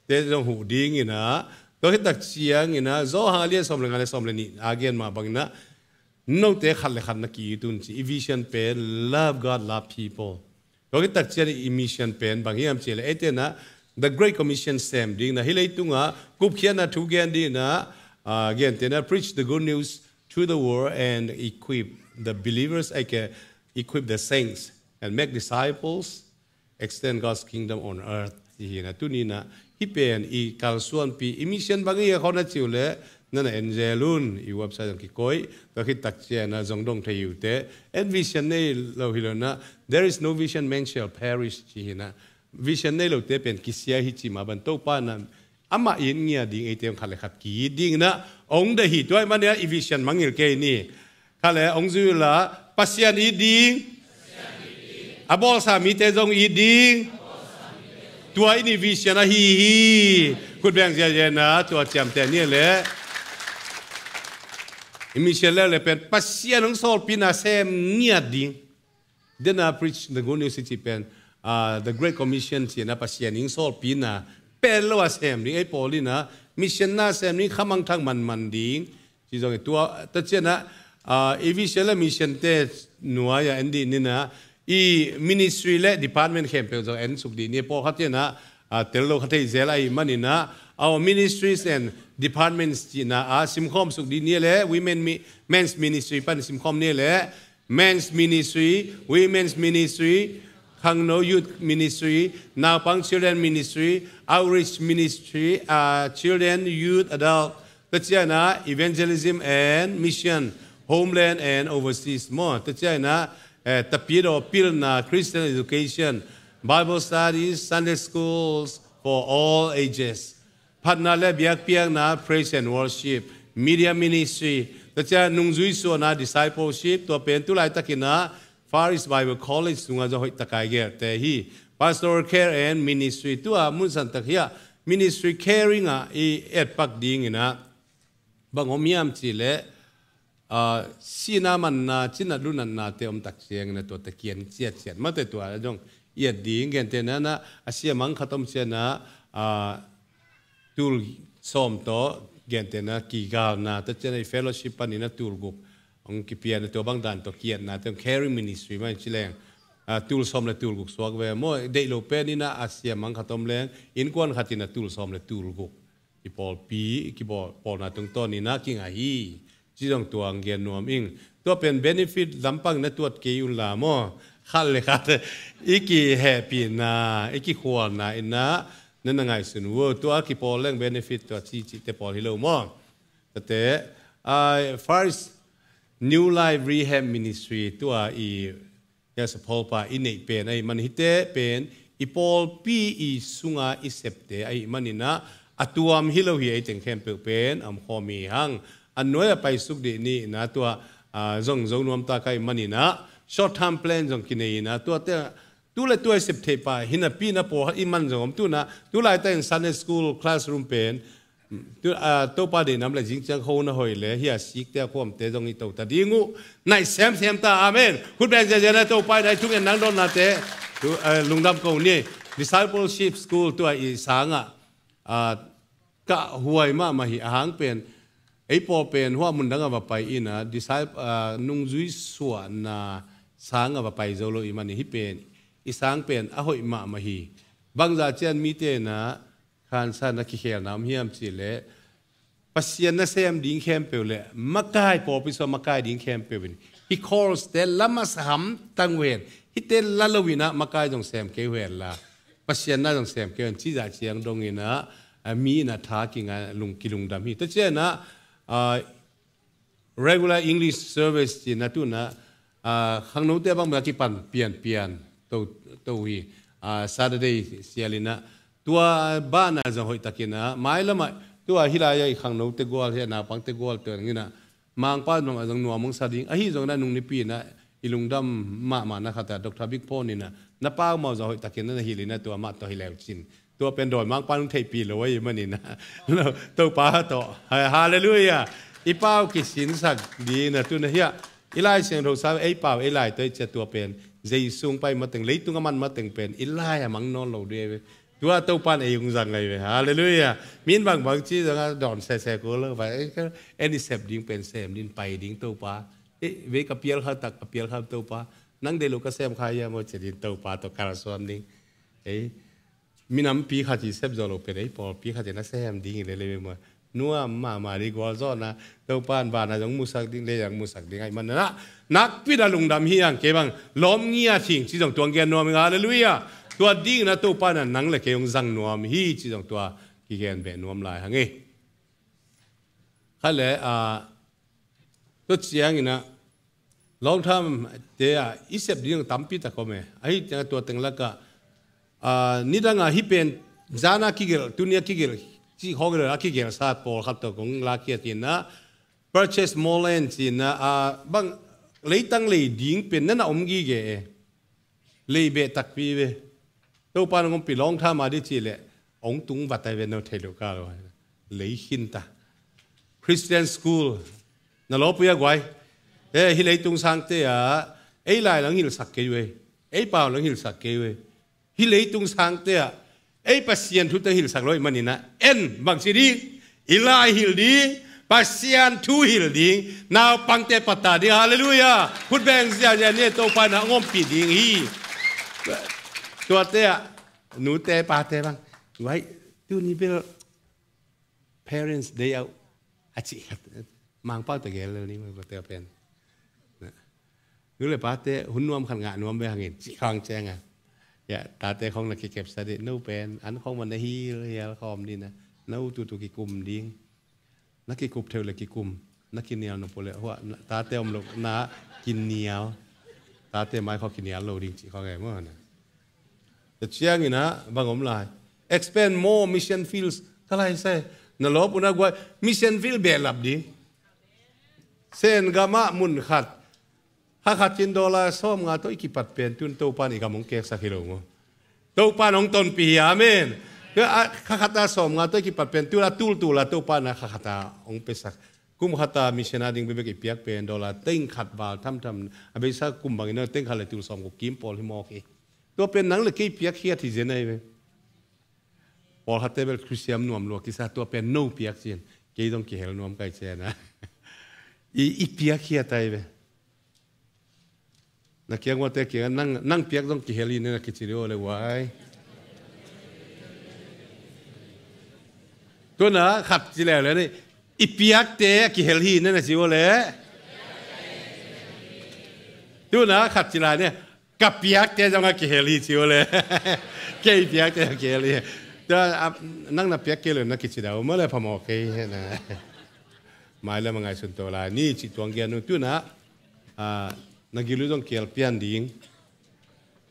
zong huh dingin ah, tua khit tak ciangin ah Johan a lian sawm le nga le sawm le nih a gen mah bangin ah, note khat le khat na ki-it un ci. I vision pen love God, love people. Tua khit tak ciang i mission pen bang hiam cih leh eite in ah the Great Commission sem dingin ah, hih leitungah gupkhiatna thu gen dingin ah, ah, gentehna, preach the good news to the world and equip the believers, ahih kei leh equip the saints and make disciples, extend God's kingdom on earth. Hi in ah, tuni in ah hih pen i kalsuanpi, i mission bang hi a khaw na cih uh leh, na na en zel un, i website zong kikoih. Tua khit tak ciang ah zong dong thei uh teh, en vision nei lo hi lo in ah, there is no vision man shall perish ci hi in ah, vision nei lote pen kisia hi cih mah bangin Topa in ah amah it ngiat ding, eite hong khat le khat ki-it dingin ah hong deih hi. Tua ahih manin ah i vision mangngilh kei ni. Khat le hong zui un la, Pasian it ding, a bawlsa mite zong it ding. Tua in i vision ahi hi. Khut beng ziahziah in ah tua ciamteh ni ei leh. I mission le le pen Pasian hong sawlpina sem ngiat ding. Tua in ah preach the good news i cih pen, ah, the Great Commission ci in ah Pasian in sawlpina pen lo a sem ding, ei pawl in ah mission na sem ding, khamangthang manman ding. Ci zong hi tua, tua ciang ah, ah, i vision le mission-te nuai-ah en dih ni in ah, i ministry le department khempeuh zong en suk dih ni. Pawlkhat in ah, ah, tel lo kha thei zel ahih manin ah, our ministries and departments ci in ah, ah, simkhawm suk dih ni ei leh, women mi-, men's ministry pan simkhawm ni ei leh, men's ministry, women's ministry, khangno youth ministry, naupang children ministry, outreach ministry, ah, children, youth, adult. Tua ciang ah evangelism and mission, homeland and overseas maw. Tua ciang ah, eh, tapidaw pilna, Christian education, Bible studies, Sunday schools for all ages. Phatna le biakpiakna, praise and worship, media ministry, tua ciang nungzui suahna, discipleship, tua pen tu laitakin ah Far East Bible College sungah zong hoih takin a gelhte hi. Pastoral care and ministry, tua munsan tak hiah ministry caring ah i etpak dingin ah bang om hiam cih leh, ah, sihna manna, cinat lunatnate om tak ciangin ah tuate kiang ciatciat mate tua zong i et ding. Gentehna in ah, a siamang khat om ciang ah, ah, tul sawm tawh, gentehna kigalna, tua ciang ah i fellowship panin ah tul guk hong kipia in ah, tua bang dan tawh ki-etnate, caring ministry mah in ci leng, ah, tul sawm le tul guk suak ve maw. Deih lo pen in ah a siamang khat om leng, innkuan khat in ah tul sawm le tul guk i pawlpi, i kibawl, pawlna tungtawn in ah kingah hi. Ci zong tua hong gen nuam ing. Tua pen benefit lampang na tuat kei un la maw. Khat le khat i kihehpihna, i kikhualna in ah na na ngaihsun uh. Tua kipawl leng benefit tua ci cihte pawl hi lo maw. Tuate, ah, Far East New Life Rehab Ministry, tua i Yes, a pawlpa i neih pen ahih manin, hihte pen i pawlpi i sunga i septe ahih manin ah, a tuam hi lo hi. Ei teng khempeuh pen a omkhawm hi hang. A nuai-ah paisuk dih ni in ah, tua, ah, zong zo nuam ta ka hih manin ah, short term plan zong kinei in ah, tuate, tu le tua i sep theih pah hi napi in ah, pawlkhat i man zong om. Tu in ah, tu laitak in Sunday school classroom pen, tu, ah, Topa deihna om leh zing ciang kho na hoih leh, hih a sikte, a khuamte zong i to ta ding uh. Naih semsem ta, amen. Khut beng ziahziah in ah Topa in ah i thungetna, nang dotnate, tu, ah, lungdam ko ni. Discipleship School, tua i sang ah, ah, ka huai mahmah hi. A hang pen, ei pawl pen hua mun dang ah va pai in ah, disciple, ah, nungzui suahna sang a va pai zo lo i man hi pen, i sang pen a hoih mahmah hi. Bangzah ciang mite na khansa na kikhelna om hiam cihleh, Pasian na sem ding khempeuh le makai, pawlpi sua makai ding khempeuh in, hih course te la masa hamtang uh hen, hihte la lo in ah makai zong sem kei uh hen la, Pasian na zong sem kei uh hen, cih zah ciang dong in ah, a, mi in ah tha kinga lung, kilungdam hi. Tua ciang ah, a, regular English service ci-in ah tu-in ah, a, khangnote bang bang kipan pianpian to, to hi, a, Saturday sial in ah, tua banah zong hoihtakin ah, mailam ah, tua hih lai-ah i khangnote gual hi a, naupangte gual tua in ah, Mangpa zong a zong nuam hong sa ding, ahi zong in ah nung nipi in ah, i lungdam mahmah na khat ah, Doctor Big Phone in ah, na pau mah zong hoihtakin ah na hilh in ah tua mah tawh hi leu cin. Tua pen dawimangpa nung theihpih lo ahih manin ah, Topa tawh. Ha-, halleluiah. I pau kisinsak ding in ah tu-in ah hiah, i Lai Siangtho sa, ei pau, ei lai tawh i ciah tua pen, Jesu hong pai mateng, leitung a man mateng pen, i lai a mang nawn lo ding. Tua Topa in ei hong zang ahi ve. Halleluiah. Min bangbang ci zong a dawn sese ko lo va. Ei, en i sep ding pen sem ding, pai ding Topa. Ei, vei ka pial kha tak, ka pial kha Topa. Nang deih lo ka sem kha hiam aw ci ding Topa tawh kalsuan ding. Ei, minampi khat i sep zo lo pen, ei, pawlpi khat i na sem ding hi lel ei ve maw. Nuam mahmah ding gualzawhna, Topa in van ah zong musak ding, lei ah zong musak ding ahih manin ah, nakpi in ah lungdam hi hang. Kei bang lawm ngiat hing ci zong tua hong gen nuam ing, halleluiah. Tua ding in ah Topa in ah nang le kei hong zang nuam hi ci zong tua kigen beh nuam lai hang ei. Khat le, a, tua ciang in ah, long term te ah i sep ding tampi tak om e. Ahi ciang tua teng lakah, a, nidang ah hih pen zan a kigelh, tuni a kigelh, cih khawng in ah a kigelhsa pawlkhat tawh kong lakkhiat in ah, purchase more land ci-in ah, a, bang leitang lei ding pen na na om gige e. Lei beh takpi ve. Topa in hong ompih long term a ding cihleh, hong tung vat ahi ve, no theih loh ka lo. Lei khin ta. Christian school. Na lawpui a guai. Eh, hih leitung sangte ah, ei lai lang hilhsak kei uh ei. Ei pau lang hilhsak kei uh ei. Hih leitung sangte ah, ei Pasian thu teng hilhsak lo ahih manin ah, en bang ci ding, i lai hilh ding, Pasian thu hilh ding, naupangte pattah ding, halleluiah. Khut beng ziahziah ni, Topa in ah hong ompih ding hi. Tuate ah, nute pate bang, vai, tuni bel Parents' Day uh a cih khat. Mangpau tawh gel lel ni, Mangpau tawh pen. Nu le pate hun nuam khat ngah nuam ve hang in, cih khawng ciang a. Ya, tate khawng na kikepsa dih, no pen, an khawng man na hilhial khawm dih na. No tutu kikum ding. Na kikup theu le kikum. Na kinial nop uh le, hua, na, tate om lo, na kinial. Tate mai khawng kinial lo ding cih khawng e maw na. Tua ciangin ah, bang om lai. Expand more mission fields. Ka lai sai. Na lawp uh na guai. Mission field behlap ding. Sen gam ah mun khat. Kha khat in dollar sawmnga tawh i kipat pen tun Topa in i gam hong keksak hi lo maw. Topa in hong tonpih hi, amen. Tua a kha khat a sawmnga tawh i kipat pen tun a tultul a Topa in a kha khat a hong piasak. Kum khat a mission a ding bekbek i piak pen dollar teng khat val thamtham. A beisa kum bangin a teng khat le tul sawmguk kim pawl hi mawk hi. Tua pen nang le kei piakkhiat hi zen ahi ve. Pawlkhatte bel Khristian nuam lua kisa, tua pen no piak cin. Kei zong kihel nuam kai cian a. I, i piakkhiat ahi ve. Na kiang uate kiang nang, nang piak zong kihel hi nen a kici dih uh le uai. Tuna khat ci leuleu ni. I piakte a kihel hi nen a ci uh le. Tuna khat ci lai ni. Ka piakte zong a kihel hi ci uh le. Kei piakte a kihel hi. Tua, a, nang na piak kei le na kici dah uh maw le phamawh kei hi na. Mailam a ngaihsun to lai ni ci tuang gian uh tuna, a, na gil uh zong kial pian ding.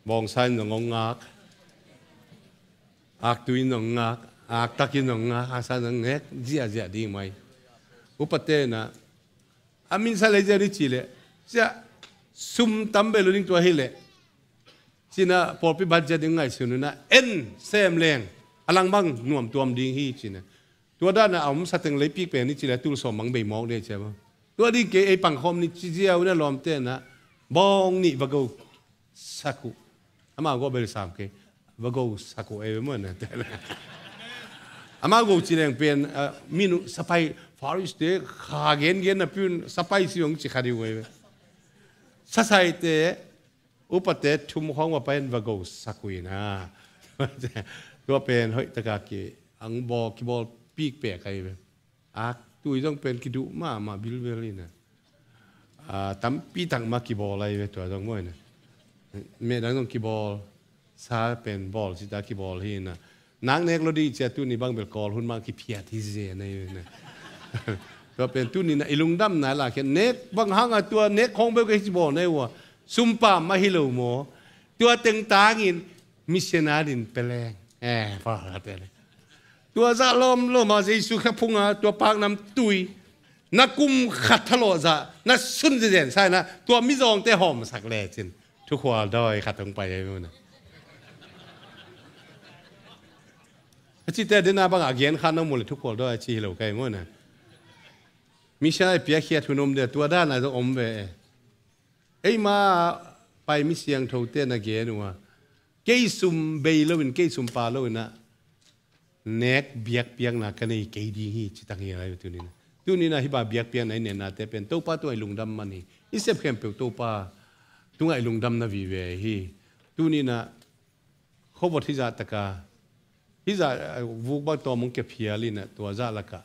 Bawngsa in zong hong ngak. Aktui in zong ngak. Aktak in zong ngak. Aksa in zong ngek. Ziahziah ding mai. Upate na. A minsa lei ziau ni ci leh, cia sum tam bei lo ding tua hi leh, cina pawlpi budget ding ngaihsun una en sem leng a lang bang nuam tuam ding hi cina. Tua dana a om sateng lei pik pen ni ci leh tul sawm bang bei mawk ding cia bang. Tua ding kei ei pangkhawm ni ci ziau na lawmte na bawng nih va go sak uh. Amau go bel sam kei. Va go sak uh ei ve maw na. Amau go ci leng pen, ah, minu sapai Pharisee te kha gen gen na piun sapai si ong ci kha ding uh ei ve. Sasaite Upate thum khawng va pai in va gosak uh ina. Tua pen hoih taka ki ang bawl, kibawl pik pek ahi ve. Ak tui zong pen kiduh mahmah bilbel ina. Ah, tampi tak mah kibawl ahi ve tua zong maw ina. Meh dang zong kibawl, sa pen bawl cita kibawl hi ina. Nak nek lo dih cia tuni bang bel Kawl hun mah kiphiat hi zen ahi ve ina. Tua pen tuni na i lungdamna lah khian nek bang hang a tua nek khawng bel ka hi ci bawl na hi ua. Sumpa mah hi lo maw. Tua teng tangin missionary in peleng. Eh, pa ka te le. Tua zah lawm lawm a Jesu kha phunga tua paknam tui na kum khat thalawh zah na sun zezen sa ina tua mizawngte hawmsak lecin thukhual dawi khat hong pai ahi maw na. A cite dena bang a gen khan na mu le thukhual dawi a ci hi lo kai maw na. Missionary piakkhiat hun om dia tua dana zong om ve. Eima pai mi siangthote na gen uh a kei sum bei loin kei sum pa loin ah nek biakpiakna ka nei kei ding hi ci tang hi lai tuni na. Tuni na hi ba biakpiakna i nennate pen Topa tungah i lungdam man hi. I sep khempeuh Topa tungah i lungdam na vive hi. Tuni na khuavot hi zah taka hi zah vuk bang tawm hong kephial ina tua zah lakah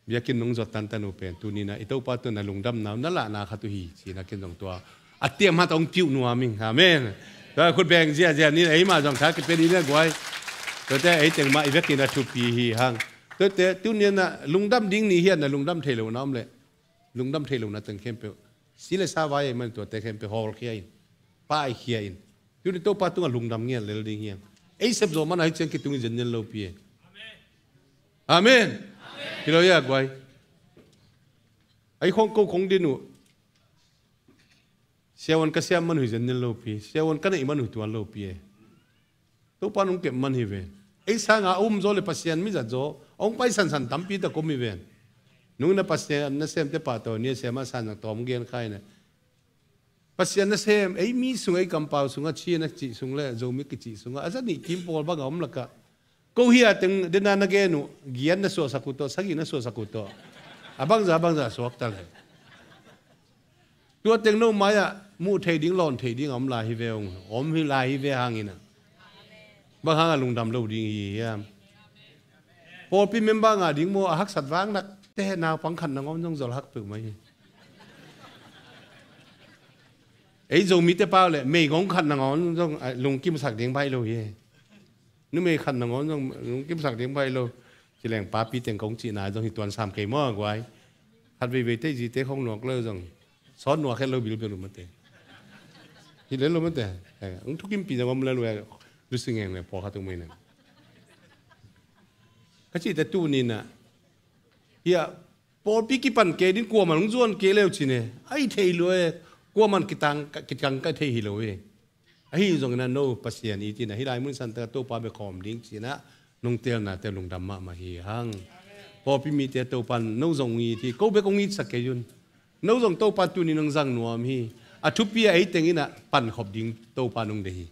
biakinn nong zuat tantan uh pen tuni na i Topa tungah na lungdamna uh na lahna khat uh hi ci na ken zong tua a tiamhat hong piuh nuam ing. Amen. Tua khut beng ziazia ni eima zong tha kipia ni na guai. Tuate ei teng mah i vekin a thupi hi hang. Tuate tuni na lungdam ding ni hian na lungdam thei lo na om le lungdam thei lo na teng khempeuh si le sa vai ei man tuate khempeuh hawlkhia in paikhia in. Tuni Topa tungah lungdam ngiat lel ding hiam? Ei sep zawh man ahi ciang kitung i zen nial lopi e. Amen. Hi lo ia guai. Ai khong ko khong din uh. Siawan ka siam man uh i zen nial lopi. Siawan ka neih man uh i tuan lopi e. Topa nung kep man hi ve. Ei sanga a um zaw le Pasian mizat zaw hong pai sansan tampi tak om hi ve. Nung na Pasian na semte pahtawi ni a siama sanzang tawm gen khai na. Pasian nasem ei mi sung ei kampau sungah Chin a kicih sung le Zomi kicih sungah a za nih kim pawl bang a om lakah ko hi a teng dena na gen uh giat na suahsak uh tawh sagih na suahsak uh tawh a bangza bangza suak ta le. Tua teng no mai-ah muh thei ding lawn thei ding a om lai hi ve ung om hi lai hi ve hangin ah. Bang hang a lungdam lo ding hi hiam? Pawlpi member ngah ding maw a haksat vang nak te naupang khat nangawn zong zol hak peuh mai hi. Ei Zomite pau le meigong khat nangawn zong lungkimsak ding baih lo hi. Numei khat nangawn zong lungkimsak ding baih lo. Ci leng papi teng kong cihna zong hi tuan sam kei maw a guai. Khat veivei tei zite khong nuak lo zong sawt nuak het lo bilbel uh mate. Hi lel lo mate. Ung thukimpi zong om lel uh. Lusingeng le pawlkhat tung mai na ka cihte tuninah hiah pawlpi kipan kei din kuaman hong zuan kei leu cine a hi thei lo e. Kuaman kitang ka thei hi lo e. Ahi zongin a no Pasian i tina hi lai mun santa Topa bia khawm ding cinah nong telnate lungdam mahmah hi hang. Pawlpi mite Topa no zong i ti ko bek hong itsak kei un. No zong Topa tuni nong zang nuam hi. A thupi a ei tenginah pankhop ding Topa nong de hi.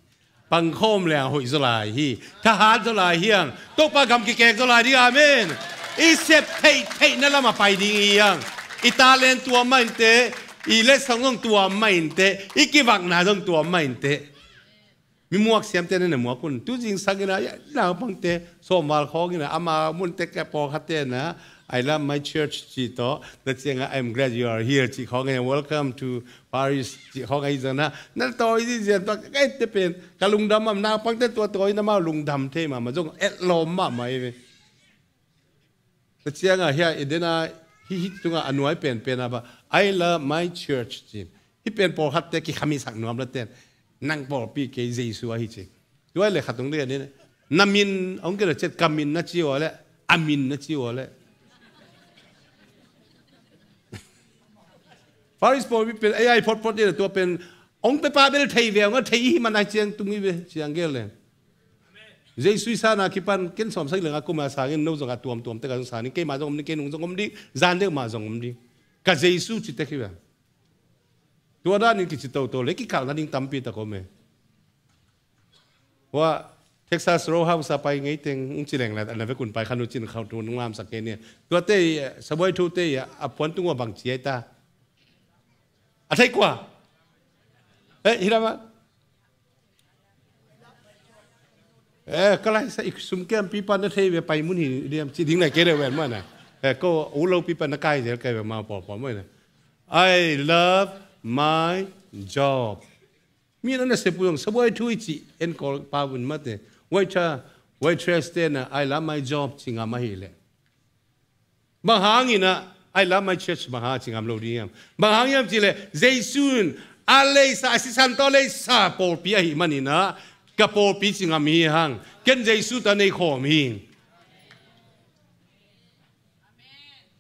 Pangkhawm le a hoih zaw lai hi. Thahat zaw lai hiang. Topa gam kikek zaw lai ding amen. I sep theih theihna lamah pai ding i hiang. I talent tuam mah inte. I letsong zong tuam mah inte. I kivakna zong tuam mah inte. Mi muak siamte na na muak un tu zing sangin a naupangte sawmval khawngin a ama munte ka pawlkhatte na I love my church cih tawh na cianga I'm glad you are here cih khawngin a welcome to Paris cih khawng ahi zong na na tawi zizian tua ka ette pen ka lungdam am naupangte tua tawi na mau lungdam thei mahmah zong etlawm mahmah i ve. Tua ciangah hiah i dena hih hih tungah a nuai penpen ah bah I love my church cin. Hih pen pawlkhatte kikhamisak nuam la ten nang pawlpi kei Jesu ahi cin. Tuai le khat tung ding a dena na min hong kena ciat ka min na ci ua le a min na ci ua le. Faris pawlpi pen ei ai photphot ding a tua pen hong pe pa bel thei ve hong a thei i hi man ai ciang tung i ve ciang gel le. Jesu i sana kipan ken sawm sak leng a kuma sangin no zong a tuamtuam tek a zong sanin keima zong om ding kei nung zong om ding zan deuh mah zong om ding. Ka Jesu ci tek hi ve. Tua danin kici toto le kikalh nading tampi tak om e. Hua Texas Row House a pai ngei teng ung ci leng la na vekun pai khan u cin khauh tu nung lamsak kei nia. Tuate i sabuai thute i a puan tung ua bang ci ai ta. A thei kua Eh, hi lam ah. Eh, ka lai sa, i sum kiampi pa na thei ve, pai mun hi diam ci ding na kei le ven mana. Eh, ko u lo pi pa na kai zel kei ve ma pawl pawl mai na. "I love my job." Mi na na se pu yong sa buai thu i ci en kol pa vun mate. Waiter, waitress te na, "I love my job" ci ngam ahi le. Bang hangin ah, "I love my church" bang hang ci ngam lo ding hiam? Bang hang hiam ci le, Jesu in a leisa, a sisan tawh leisa pawlpi ahi manin ah, "Ka pawlpi" ci ngam hi hang. Ken Jesu tawh nei khawm hi.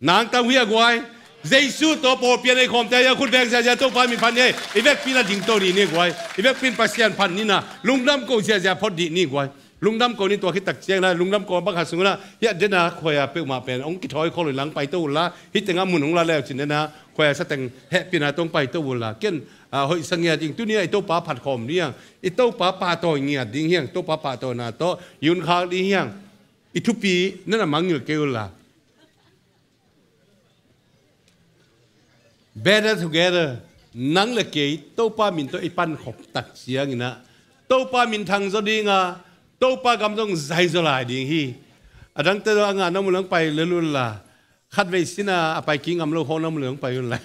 Nang tang hi a guai. Jesu tawh pawlpi a nei khawmte a khut veng ziazia Topa min phat ni. I vekpi na ding to ni ni guai. I vekpi in Pasian phat ni na. Lungdam ko ziazia phot dih ni guai. Lungdam ko ni tua khit tak ciang na. Lungdam ko bang khat sung na. Hiah dena khuai a peuhmah pen ong kithawi khol lang pai to ula. Hih tengah mun ong la leu cin dena khuai a sa teng hehpihna tong pai to ula. Ken, ah, hoih sa ngiat ding. Tuni a i Topa phat khawm ding hiang. I Topa pahtawi ngiat ding hiang. Topa pahtawina tawh i hun khak ding hiang. I thupi nana mangngilh kei ula. Better together. Nang le kei Topa min tawh i pan khop tak ciangin ah, Topa min thang zaw ding a, Topa gam zong zai zaw lai ding hi. A dangte zaw a ngah na mu leng pai le lul la. Khat vei sin a a pai kik ngam lo khawng na mu leng pai un la.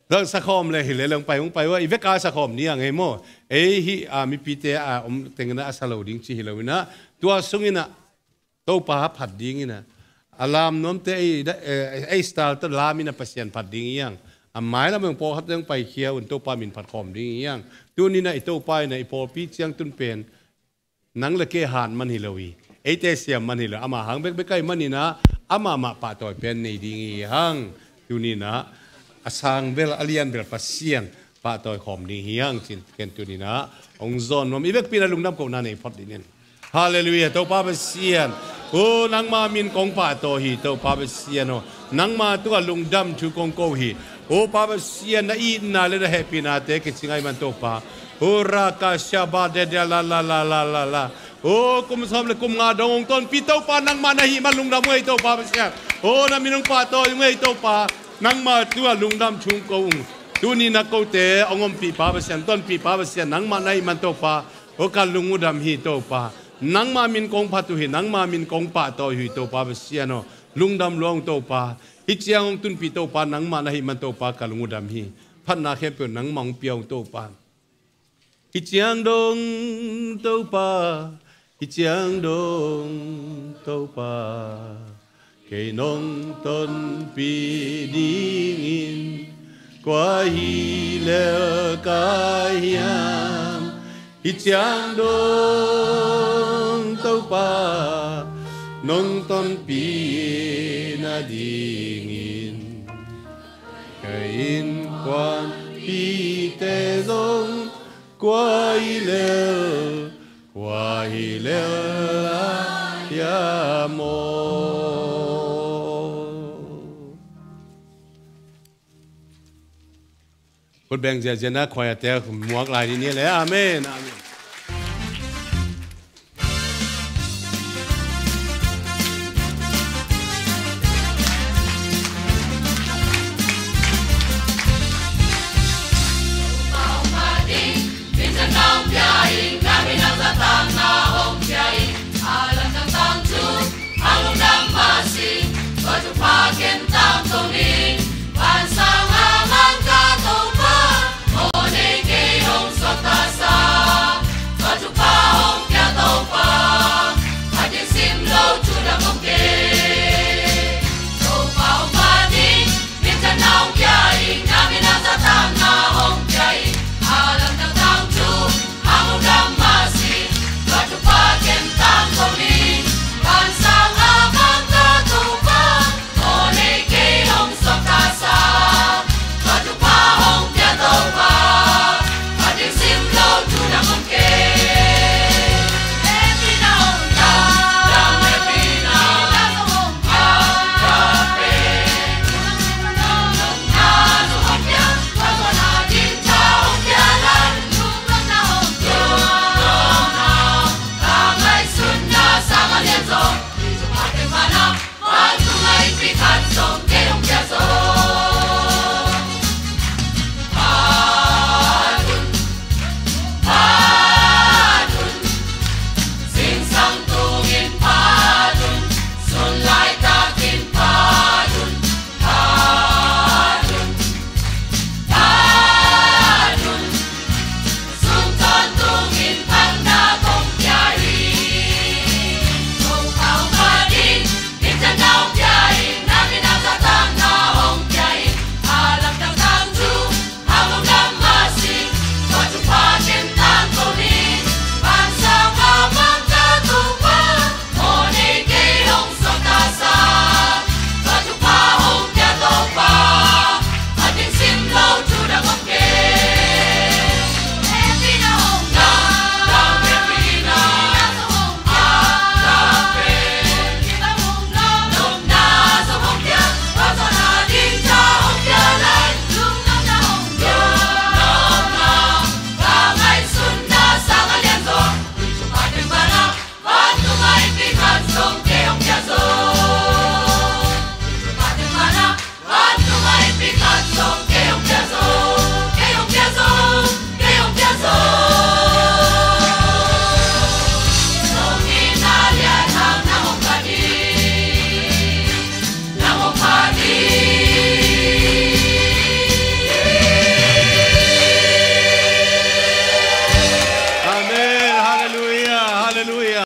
Zong sa khawm le hi le leng pai hong pai ua, i vek a sa khawm ni a ngei maw. Ei hi a mipite a om tengin ah a sa lo ding ci hi lo in ah, tua sungin ah Topa phat dingin ah, a lam nuamte ei da, eh, ei style tawh lam in ah Pasian phat ding hiang. A mai lam hong pawlkhat hong paikhia un Topa min phat khawm ding hiang. Tuni in ah i Topa in ah i pawlpi ciangtun pen nang le kei hat man hi lo hi. Eite siam man hi lo. Amah hang bekbek ahi manin ah, amah mah pahtawi pen nei ding hi hang. Tuni in ah a sang bel, a lian bel Pasian pahtawi khawm ding hi hang cin ken tuni in ah hong zawn nuam. I vekpi in ah lungdam kohna nei phot ding in. Halleluiah, Topa Pasian. O, nangma min kong pahtawi hi, Topa Pasian aw. Nangma tungah lungdam thu kong ko hi. O, Pa Pasian, na itna le na hehpihnate kicing ahi man, Topa. O, raka shaba de de la la la la la la. O, kum sawm le kum nga dong hong tonpih Topa, nangma na hih man lungdam ung ei, Topa Pasian. O, na min hong pahtawi ung ei, Topa. Nangma tungah lungdam thu kong ko ung. Tuni na kote hong ompih Pa Pasian, tonpih Pa Pasian, nangma na hih man, Topa. O, ka lung uh dam hi, Topa. Nangma min kong phat uh hi, nangma min kong pahtawi uh hi, Topa Pasian aw. Lungdam lua ung, Topa. Hih ciang hong tunpih Topa, nangma na hih man, Topa, ka lung uh dam hi. Phatna khempeuh nangma hong pia ung, Topa. Hih ciang dong, Topa. Hih ciang dong, Topa. Kei nong tonpih dingin kua hi lel ka hiam? Hih ciang dong, Topa, nong tonpih nadingin ka innkuanpihte zong kua hi lel, kua hi lel a hiam aw. Khut beng ziahziah na, khuaite muak lai ni ni le. Amen. Amen.